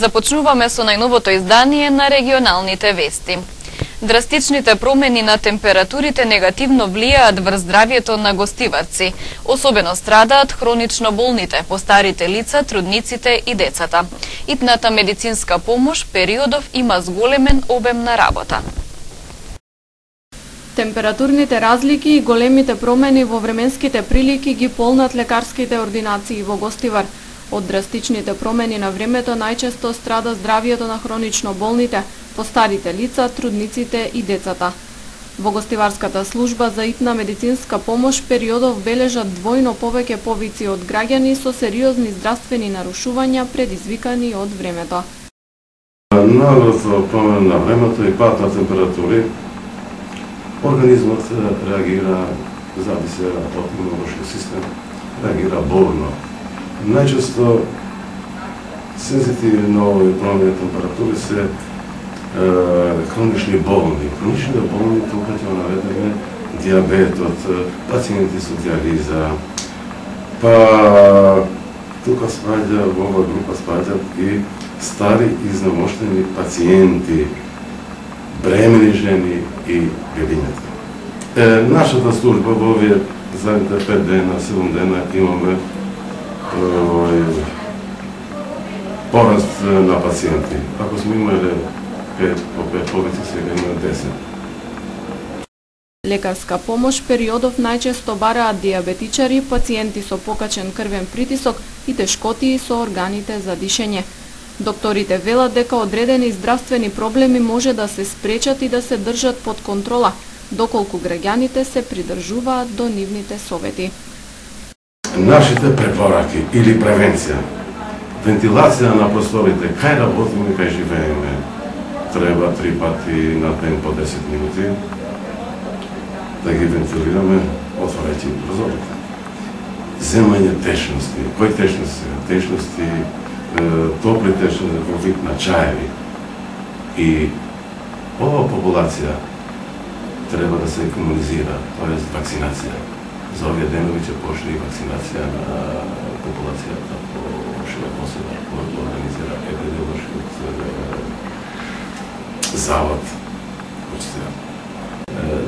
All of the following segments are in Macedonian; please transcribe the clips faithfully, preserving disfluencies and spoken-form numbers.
Започнуваме со најновото издание на регионалните вести. Драстичните промени на температурите негативно влијаат врз здравјето на гостиварци. Особено страдаат хронично болните, постарите лица, трудниците и децата. Итната медицинска помош периодов има зголемен обем на работа. Температурните разлики и големите промени во временските прилики ги полнат лекарските ординации во Гостивар. Од драстичните промени на времето најчесто страда здравјето на хронично болните, постарите лица, трудниците и децата. Во Гостиварската служба за итна медицинска помош периодов бележат двојно повеќе повици од граѓани со сериозни здравствени нарушувања предизвикани од времето. Нагло промена на времето и пат на температури, организмот реагира, зависи од имунолошкиот систем, реагира бурно. Најчесто сензитивни на овој промени на температури се е, хронични болни. Хронични болни тука ќе наведеме диабетот, пациенти со диализа, па тука спаѓа, во оваа група спаѓаат и стари изнемоштени пациенти, бремени жени и бебињата. Е, нашата служба во овие задните пет дена, седум дена имаме пораст на пациенти. Ако сме имали пет по пет повици, сега има десет. Лекарска помош периодов најчесто бараат диабетичари, пациенти со покачен крвен притисок и тешкотии со органите за дишење. Докторите велат дека одредени здравствени проблеми може да се спречат и да се држат под контрола, доколку граѓаните се придржуваат до нивните совети. Нашите препораки или превенција, вентилација на просторите, кај работиме, кај живееме, треба три пати на ден по десет минути да ги вентилираме, отворајќи прозорите. Земање течности, кои течности? Течности, топли течности во вид на чаеви. И ова популација треба да се имунизира, тоа е вакцинација. За овие денови ќе почне и вакцинација на популацијата по широко посева, кој организира епидемиолошкиот завод.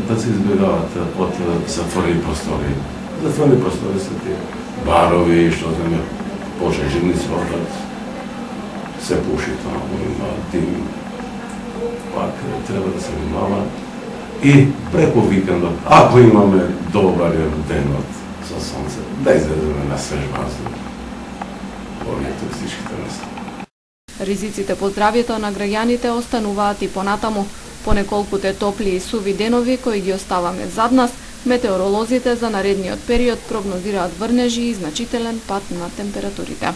Да се избегават од затворени простори. Затворени простори се тие барови, што земе пожежни свотат, се пуши таму, има дим. Пак треба да се внимава. И преку викендот, ако имаме добар денот со сонце, да излеземе на свеж воздух во овие туристичките места. Ризиците по здравјето на граѓаните остануваат и понатаму. По неколкуте топли и суви денови кои ги оставаме зад нас, метеоролозите за наредниот период прогнозираат врнежи и значителен пат на температурите.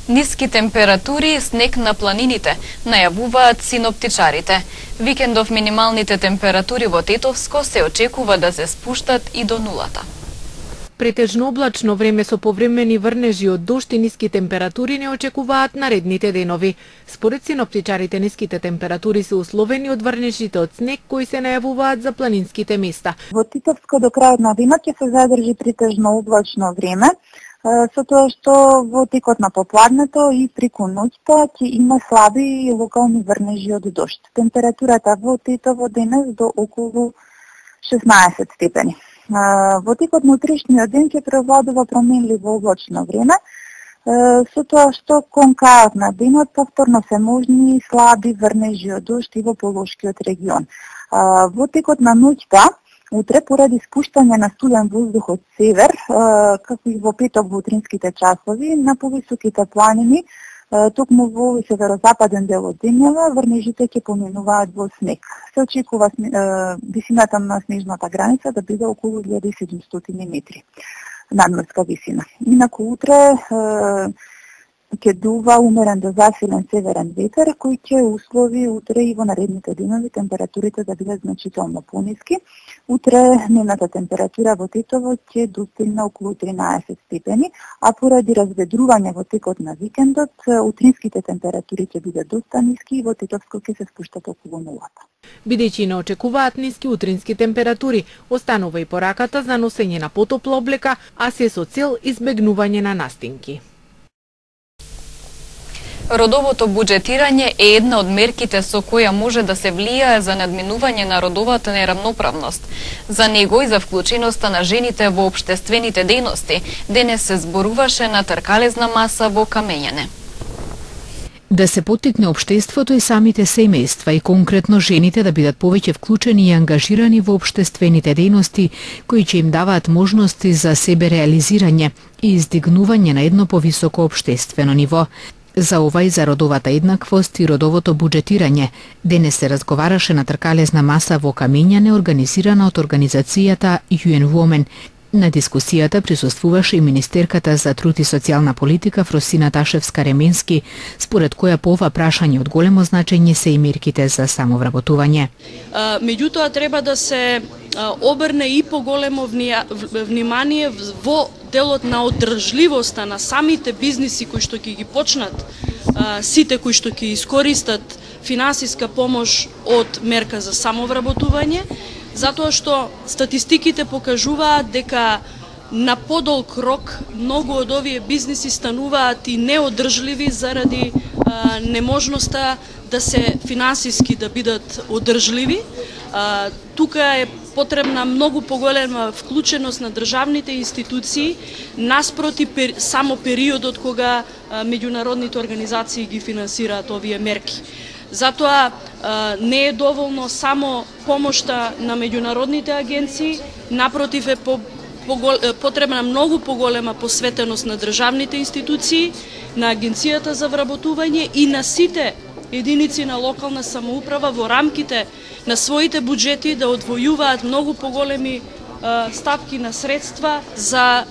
Ниски температури и снег на планините, најавуваат синоптичарите. Викендов минималните температури во Тетовско се очекува да се спуштат и до нулата. Претежно облачно време со повремени врнежи од дожд и ниски температури не очекуваат наредните денови. Според синоптичарите, ниските температури се условени од врнежите од снег кои се најавуваат за планинските места. Во Тетовско до крајот на денот ќе се задржи претежно облачно време, со тоа што во текот на попладнето и преку ноќта ќе има слаби и локални врнежи од дожд. Температурата во Тетово денес до околу шеснаесет степени. Во текот на утрешниот ден ќе превладува променливо облачно време, со тоа што кон крајот на денот повторно се можни слаби врнежи од дожд и во Полошкиот регион. Во текот на ноќта утре, поради спуштање на студен воздух од север, како и во петок во утринските часови, на повисоките планини, токму во северозападен дел од земјава, врнежите ќе поминуваат во снег. Се очекува висината на снежната граница да биде околу илјада и седумстотини метри надморска висина. Инаку утре ќе дува умерен до засилен северен ветер, кој ќе услови утре и во наредните денови температурите да бидат значително пониски. Утре дневната температура во Тетово ќе достигне околу тринаесет степени, а поради разведрување во текот на викендот, утринските температури ќе бидат доста ниски и во Тетовско ќе се спуштат околу нулата. Бидејќи не очекуваат ниски утрински температури, останува и пораката за носење на потопла облека, а се со цел избегнување на настинки. Родовото буџетирање е една од мерките со која може да се влијае за надминување на родовата неравноправност. За него и за вклученоста на жените во општествените дејности денес се зборуваше на тркалезна маса во Камењане. Да се поттикне општеството и самите семејства и конкретно жените да бидат повеќе вклучени и ангажирани во општествените дејности кои ќе им даваат можности за себе реализирање и издигнување на едно повисоко општествено ниво. За ова и за родовата еднаквост и родовото буџетирање денес се разговараше на тркалезна маса во Камењане организирана од организацијата ю ен Women. На дискусијата присуствуваше и министерката за труд и социјална политика Фросина Ташевска-Ременски, според која по ова прашање од големо значење се и мерките за самовработување. Меѓутоа треба да се обрне и поголемо внимание во делот на одржливоста на самите бизниси кои што ќе ги почнат, сите кои што ќе искористат финансиска помош од мерка за самовработување, затоа што статистиките покажуваат дека на подолг рок многу од овие бизниси стануваат и неодржливи заради а, неможноста да се финансиски да бидат одржливи. А, тука е потребна многу поголема вклученост на државните институции наспроти пер, само периодот кога а, меѓународните организации ги финансираат овие мерки. Затоа а, не е доволно само помошта на меѓународните агенции, напротив е по, по, потребна многу поголема посветеност на државните институции, на Агенцијата за вработување и на сите единици на локална самоуправа во рамките на своите буџети да одвојуваат многу поголеми ставки на средства за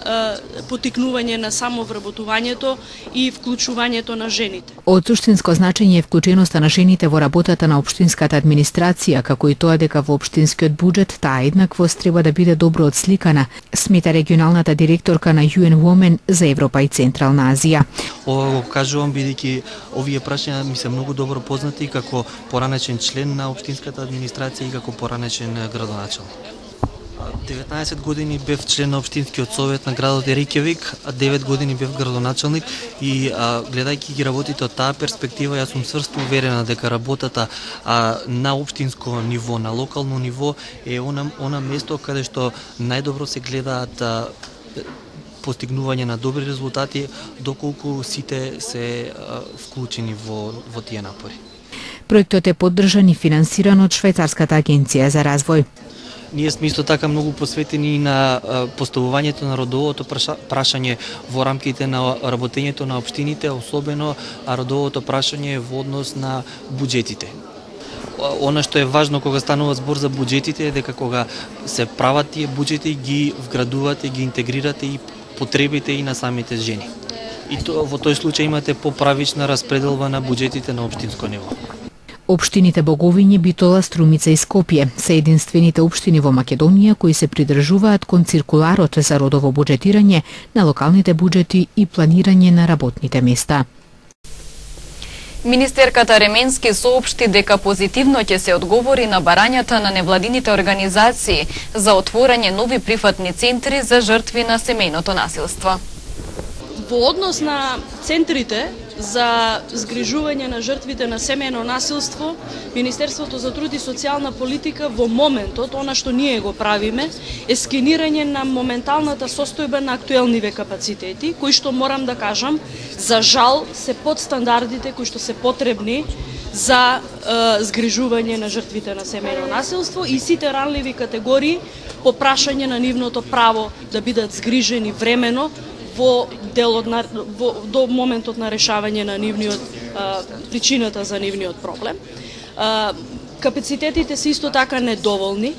потикнување на самовработувањето и вклучувањето на жените. Од суштинско значење е вклученоста на жените во работата на општинската администрација, како и тоа дека во општинскиот буџет таа еднаквост треба да биде добро отсликана, смета регионалната директорка на ю ен Women за Европа и Централна Азија. Ова го кажувам бидејќи овие прашања ми се многу добро познати како поранешен член на општинската администрација и како поранешен градоначелник. деветнаесет години бев член на општинскиот совет на градот Рејкјавик, а девет години бев градоначелник и а, гледајќи ги работите од таа перспектива, јас сум сврсто уверена дека работата а, на општинско ниво, на локално ниво е она, она место каде што најдобро се гледаат а, постигнување на добри резултати, доколку сите се а, вклучени во, во тие напори. Проектот е поддржан и финансиран од Швајцарската агенција за развој. Ние сме исто така многу посветени на поставувањето на родовото прашање во рамките на работењето на општините, особено родовото прашање во однос на буџетите. Она што е важно кога станува збор за буџетите е дека кога се прават тие буџети ги вградувате, ги интегрирате и потребите и на самите жени. И то, во тој случај имате поправична распределба на буџетите на општинско ниво. Општините Боговиње, Битола, Струмица и Скопје се единствените општини во Македонија кои се придржуваат кон циркуларот за родово буџетирање на локалните буџети и планирање на работните места. Министерката Ременски соопшти дека позитивно ќе се одговори на барањата на невладините организации за отворање нови прифатни центри за жртви на семејното насилство. Во однос на центрите за згрижување на жртвите на семејно насилство, Министерството за труд и социјална политика во моментот, она што ние го правиме, е скенирање на моменталната состојба на актуелниве капацитети, кои што морам да кажам, за жал се под стандардите кои што се потребни за е, згрижување на жртвите на семејно насилство и сите ранливи категории по прашање на нивното право да бидат згрижени времено во делот на во, до моментот на решавање на нивниот а, причината за нивниот проблем. А, капацитетите се исто така недоволни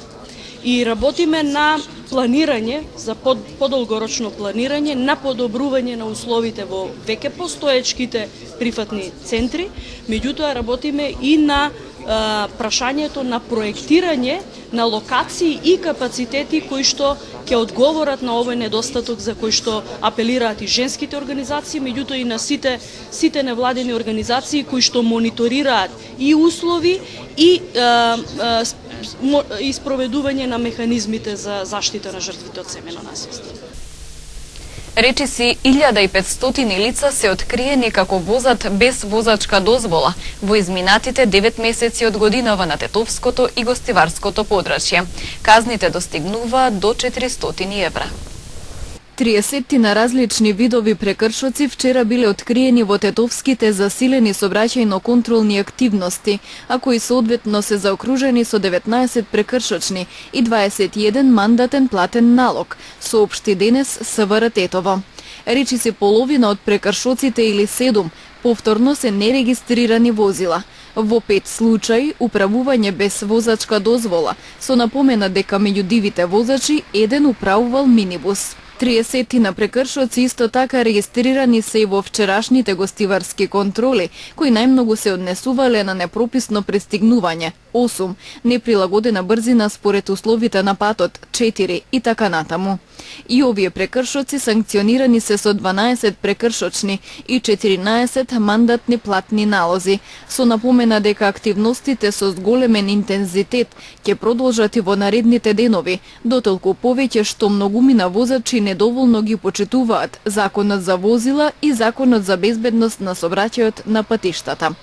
и работиме на планирање за под, подолгорочно планирање на подобрување на условите во веќе постоечките прифатни центри, меѓутоа работиме и на а, прашањето на проектирање на локации и капацитети кои што ќе одговорат на овој недостаток за кој што апелираат и женските организации, меѓутоа и на сите сите невладени организации кои што мониторираат и услови и а, а, и спроведување на механизмите за заштита на жртвите од семејно насилство. Речиси илјада и петстотини лица се откриени како возат без возачка дозвола во изминатите девет месеци од годинава на Тетовското и Гостиварското подрачје. Казните достигнуваат до четиристотини евра. триесет на различни видови прекршоци вчера биле откриени во тетовските засилени сообраќајно-контролни активности, а кои соодветно се заокружени со деветнаесет прекршочни и дваесет и еден мандатен платен налог, соопшти денес СВР Тетово. Речиси половина од прекршоците или седум повторно се нерегистрирани возила. Во пет случаи управување без возачка дозвола, со напомена дека меѓу дивите возачи еден управувал минибус. триесет на прекршоци исто така регистрирани се и во вчерашните гостиварски контроли, кои најмногу се однесувале на непрописно пристигнување, осум, неприлагодена брзина според условите на патот, четири и така натаму. И овие прекршоци санкционирани се со дванаесет прекршочни и четиринаесет мандатни платни налози, со напомена дека активностите со зголемен интензитет ќе продолжат и во наредните денови, дотолку повеќе што многумина возачи недоволно ги почитуваат Законот за возила и Законот за безбедност на сообраќајот на патиштата.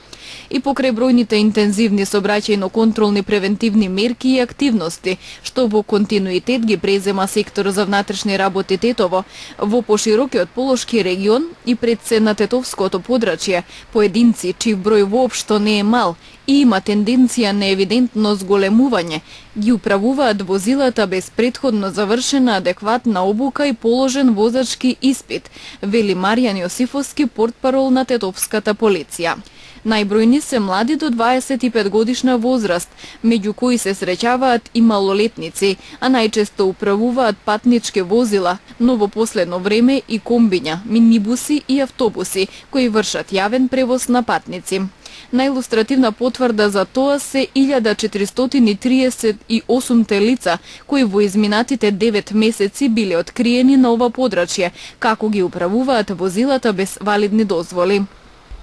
И покрај бројните интензивни сообраќајно-контролни превентивни мерки и активности, што во континуитет ги презема секторот за внатрешни работи Тетово, во поширокиот Полошки регион и пред се на Тетовското подрачје, поединци чиј број воопшто не е мал и има тенденција на евидентно зголемување, ги управуваат возилата без претходно завршена адекватна обука и положен возачки испит, вели Маријан Јосифовски, портпарол на Тетовската полиција. Најбројни се млади до дваесет и пет годишна возраст, меѓу кои се среќаваат и малолетници, а најчесто управуваат патнички возила, но во последно време и комбиња, минибуси и автобуси, кои вршат јавен превоз на патници. Најилустративна потврда за тоа се илјада четиристотини триесет и осумте лица, кои во изминатите девет месеци биле откриени на ова подрачје, како ги управуваат возилата без валидни дозволи.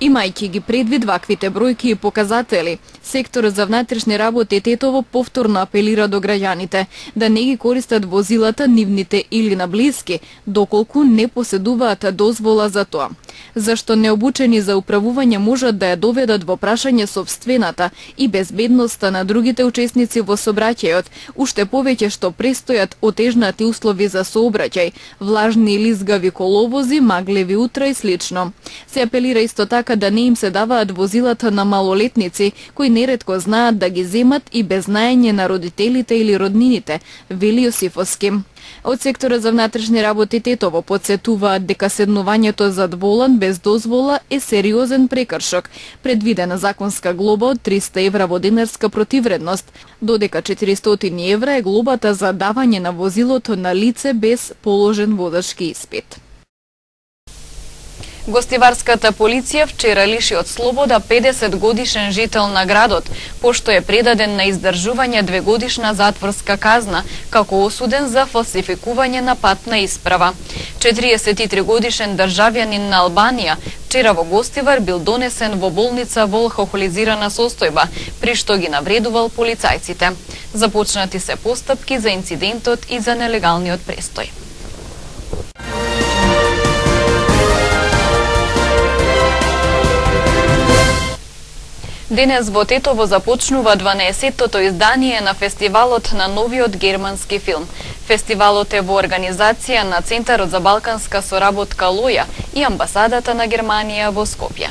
Имајќи ги предвид ваквите бројки и показатели, секторот за внатрешни работи Тетово повторно апелира до граѓаните да не ги користат возилата нивните или на блиски, доколку не поседуваат дозвола за тоа. Зашто необучени за управување можат да ја доведат во прашање собствената и безбедноста на другите учесници во сообраќајот, уште повеќе што престојат отежнати услови за сообраќај, влажни или изгави коловози, маглеви утра и слично. Се апелира исто така да не им се даваат возилата на малолетници, кои неретко знаат да ги земат и без знаење на родителите или роднините, вели Јосифовски. Од секторот за внатрешни работи Тетово подсетуваат дека седнувањето зад волан без дозвола е сериозен прекршок, предвидена законска глоба од триста евра во денарска противредност, додека четиристотини евра е глобата за давање на возилото на лице без положен возачки испит. Гостиварската полиција вчера лиши од слобода педесет годишен жител на градот, пошто е предаден на издржување двегодишна затворска казна, како осуден за фалсификување на патна исправа. четириесет и три годишен државјанин на Албанија вчера во Гостивар бил донесен во болница во алкохолизирана состојба, при што ги навредувал полицајците. Започнати се постапки за инцидентот и за нелегалниот престој. Денес во Тетово започнува дванаесеттото издание на фестивалот на новиот германски филм. Фестивалот е во организација на Центарот за балканска соработка Лоја и амбасадата на Германија во Скопје.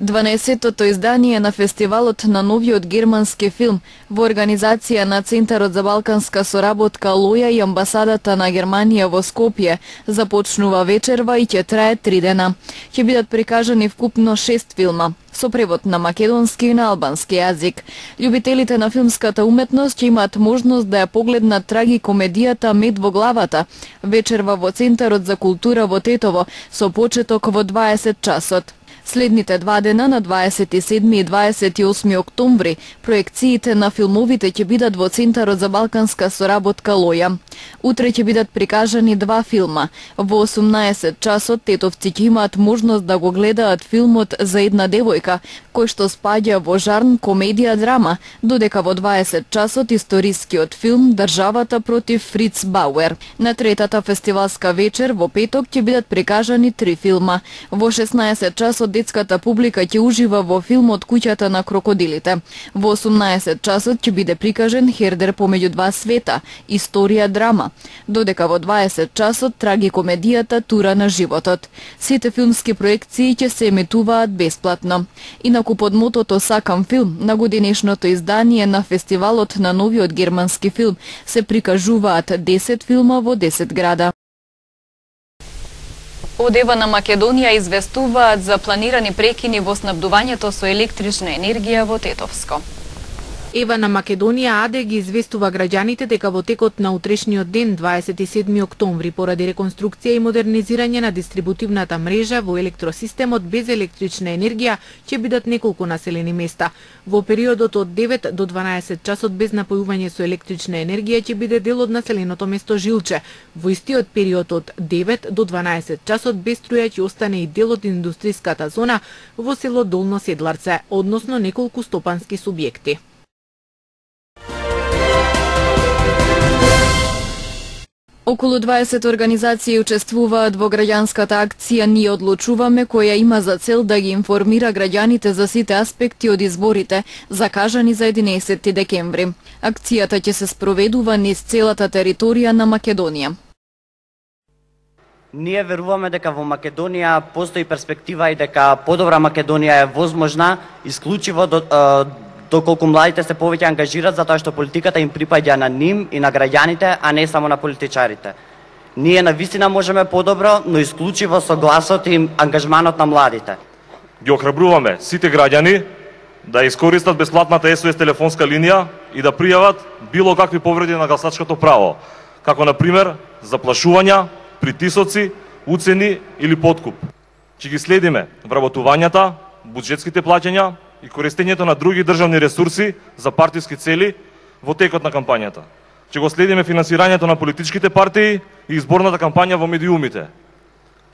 дванаесеттото издание на фестивалот на новиот германски филм во организација на Центарот за балканска соработка Лоја и амбасадата на Германија во Скопје започнува вечерва и ќе трае три дена. Ќе бидат прикажани вкупно шест филма со превод на македонски и на албански јазик. Љубителите на филмската уметност ќе имаат можност да ја погледнат трагикомедијата Мед во главата, вечерва во Центарот за култура во Тетово, со почеток во дваесет часот. Следните два дена, на дваесет и седми и дваесет и осми октомври, проекциите на филмовите ќе бидат во Центарот за балканска соработка Лоја. Утре ќе бидат прикажани два филма. Во осумнаесет часот тетовци ќе имаат можност да го гледаат филмот За една девојка, кој што спаѓа во жарн комедија драма, додека во дваесет часот историскиот филм Државата против Фриц Бауер. На третата фестивалска вечер во петок ќе бидат прикажани три филма. Во шеснаесет часот детската публика ќе ужива во филмот Куќата на крокодилите. Во осумнаесет часот ќе биде прикажен Хердер помеѓу два света, историја драма, додека во дваесет часот трагикомедијата Тура на животот. Сите филмски проекции ќе се емитуваат бесплатно. Инаку под мотото Сакам филм, на годинешното издание на фестивалот на новиот германски филм се прикажуваат десет филма во десет града. Од Ева на Македонија известуваат за планирани прекини во снабдувањето со електрична енергија во Тетовско. Ева на Македонија АД ги известува граѓаните дека во текот на утрешниот ден, дваесет и седми октомври, поради реконструкција и модернизирање на дистрибутивната мрежа во електросистемот без електрична енергија ќе бидат неколку населени места. Во периодот од девет до дванаесет часот без напојување со електрична енергија ќе биде дел од населеното место Жилче. Во истиот период од девет до дванаесет часот без струја ќе остане и дел од индустриската зона во село Долно Седларце, односно неколку стопански субјекти. Околу дваесет организации учествуваат во граѓанската акција Ние одлучуваме, која има за цел да ги информира граѓаните за сите аспекти од изборите, закажани за единаесети декември. Акцијата ќе се спроведува низ целата територија на Македонија. Ние веруваме дека во Македонија постои перспектива и дека подобра Македонија е возможна исклучиво до доколку младите се повеќе ангажираат, затоа што политиката им припаѓа на ним и на граѓаните, а не само на политичарите. Ние навистина можеме подобро, но исклучиво со гласот и ангажманот на младите. Ги охрабруваме сите граѓани да искористат бесплатната Ес О Ес телефонска линија и да пријават било какви повреди на гласачкото право, како на пример заплашувања, притисоци, уцени или подкуп. Ќе ги следиме вработувањата, буџетските плаќања и користењето на други државни ресурси за партиски цели во текот на кампањата. Ќе го следиме финансирањето на политичките партии и изборната кампања во медиумите.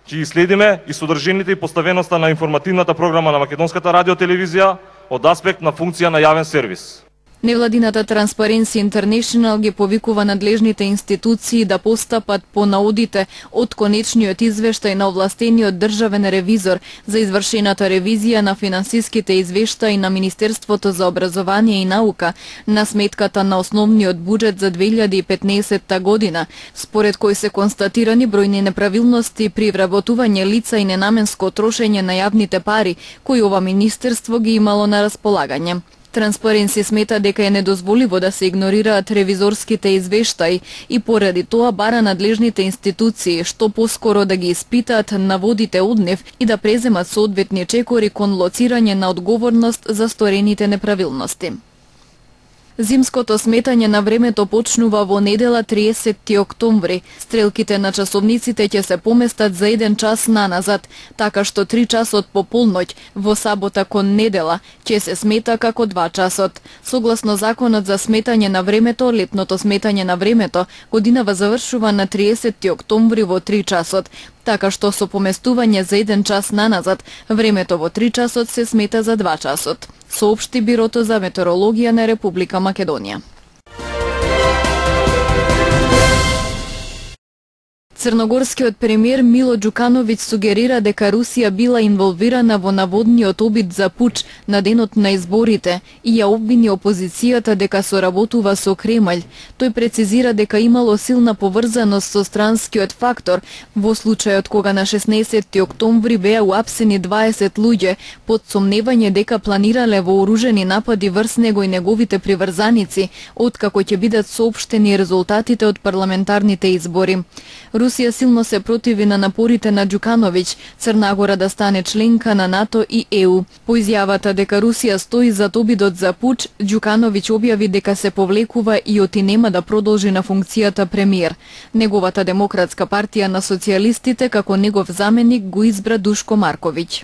Ќе ги следиме и содржините и поставеноста на информативната програма на Македонската радиотелевизија од аспект на функција на јавен сервис. Невладината Transparency International ги повикува надлежните институции да постапат по наудите од конечниот извештај на овластениот државен ревизор за извршената ревизија на финансиските извештаи на Министерството за образование и наука на сметката на основниот буџет за две илјади и петнаесетта година, според кој се констатирани бројни неправилности при вработување лица и ненаменско трошење на јавните пари кои ова министерство ги имало на располагање. Transparency смета дека е недозволиво да се игнорираат ревизорските извештаи и поради тоа бара надлежните институции што поскоро да ги испитаат наводите од нив и да преземат соодветни чекори кон лоцирање на одговорност за сторените неправилности. Зимското сметање на времето почнува во недела триесетти октомври. Стрелките на часовниците ќе се поместат за еден час наназад, така што три часот по полноќ во сабота кон недела ќе се смета како два часот. Согласно законот за сметање на времето, летното сметање на времето годинава завршува на триесетти октомври во три часот, така што со поместување за еден час наназад, времето во три часот се смета за два часот, соопшти Бирото за метеорологија на Република Македонија. Црногорскиот премиер Мило Џукановиќ сугерира дека Русија била инволвирана во наводниот обид за пуч на денот на изборите и ја обвини опозицијата дека соработува со Кремљ. Тој прецизира дека имало силна поврзаност со странскиот фактор во случајот кога на шеснаесетти октомври беа уапсени дваесет луѓе под сомневање дека планирале вооружени напади врз него и неговите приврзаници, откако ќе бидат соопштени резултатите од парламентарните избори. Русија силно се противи на напорите на Џукановиќ Црна Гора да стане членка на НАТО и Е У. По изјавата дека Русија стои зад обидот за пуч, Џукановиќ објави дека се повлекува и оти нема да продолжи на функцијата премиер. Неговата Демократска партија на социјалистите како негов заменик го избра Душко Марковиќ.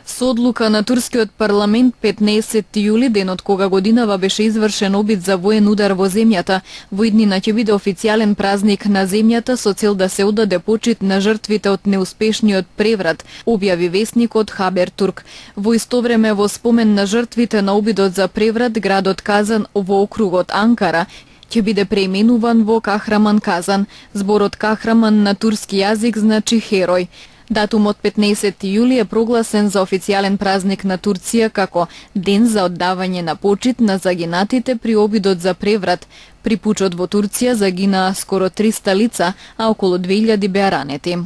Со одлука на турскиот парламент петнаесетти јули, денот кога годинава беше извршен обид за воен удар во земјата, во иднина ќе биде официјален празник на земјата со цел да се одаде почит на жртвите од неуспешниот преврат, објави весникот Хабертурк. Во исто време, во спомен на жртвите на обидот за преврат, градот Казан во округот Анкара ќе биде преименуван во Кахраман Казан. Зборот Кахраман на турски јазик значи херој. Датумот петнаесетти јули е прогласен за официјален празник на Турција како ден за оддавање на почит на загинатите при обидот за преврат. При пучот во Турција загинаа скоро триста лица, а околу две илјади беа ранети.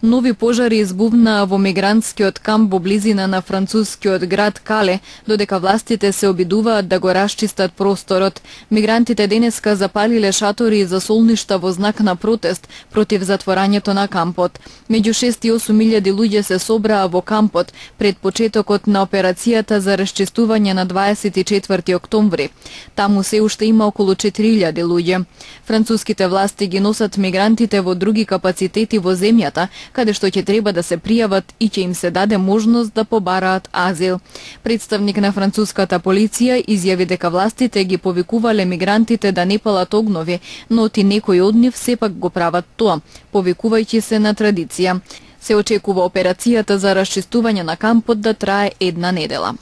Нови пожари избувнаа во мигрантскиот камп во близина на францускиот град Кале, додека властите се обидуваат да го расчистат просторот. Мигрантите денеска запалиле шатори за солништа во знак на протест против затворањето на кампот. Меѓу шест и осум илјади луѓе се собраа во кампот пред почетокот на операцијата за расчистување на дваесет и четврти октомври. Таму се уште има околу четири илјади луѓе. Француските власти ги носат мигрантите во други капацитети во земјата, каде што ќе треба да се пријават и ќе им се даде можност да побараат азил. Представник на француската полиција изјави дека властите ги повикувале мигрантите да не палат огнови, но ти некои од нив сепак го прават тоа, повикувајќи се на традиција. Се очекува операцијата за расчистување на кампот да трае една недела.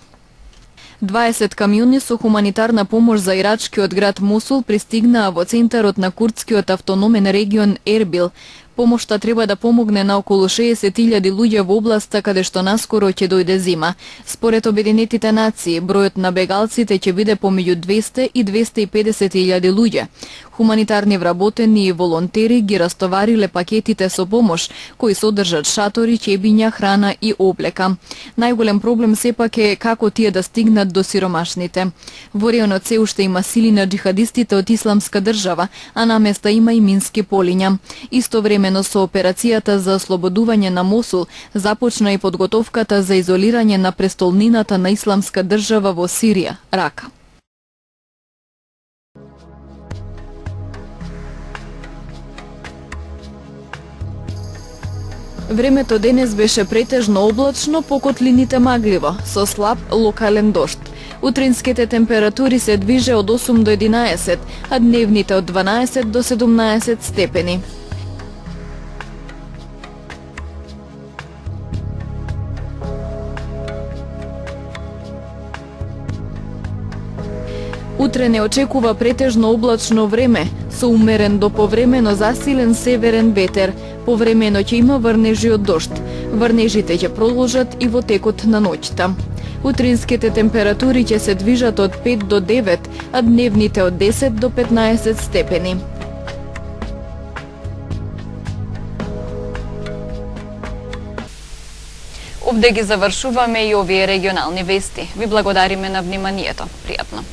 дваесет камиони со хуманитарна помош за ирачкиот град Мусул пристигнаа во центарот на курдскиот автономен регион Ербил. Помошта треба да помогне на околу шеесет илјади луѓе во областа каде што наскоро ќе дојде зима. Според Обединетите нации, бројот на бегалците ќе биде помеѓу двесте и двесте и педесет илјади луѓе. Хуманитарни вработени и волонтери ги растовариле пакетите со помош, кои содржат шатори, ќебиња, храна и облека. Најголем проблем сепак е како тие да стигнат до сиромашните. Во регионот се уште има сили на џихадистите од Исламска држава, а на места има и мински полиња. Исто време Времено со операцијата за ослободување на Мосул започна и подготовката за изолирање на престолнината на Исламска држава во Сирија, Рака. Времето денес беше претежно облачно, по котлините магливо, со слаб локален дожд. Утринските температури се движе од осум до единаесет, а дневните од дванаесет до седумнаесет степени. Утре не очекува претежно облачно време, со умерен до повремено засилен северен ветер. Повремено ќе има врнежи од дожд. Врнежите ќе продолжат и во текот на ноќта. Утринските температури ќе се движат од пет до девет, а дневните од десет до петнаесет степени. Овде ги завршуваме и овие регионални вести. Ви благодариме на вниманието. Пријатно.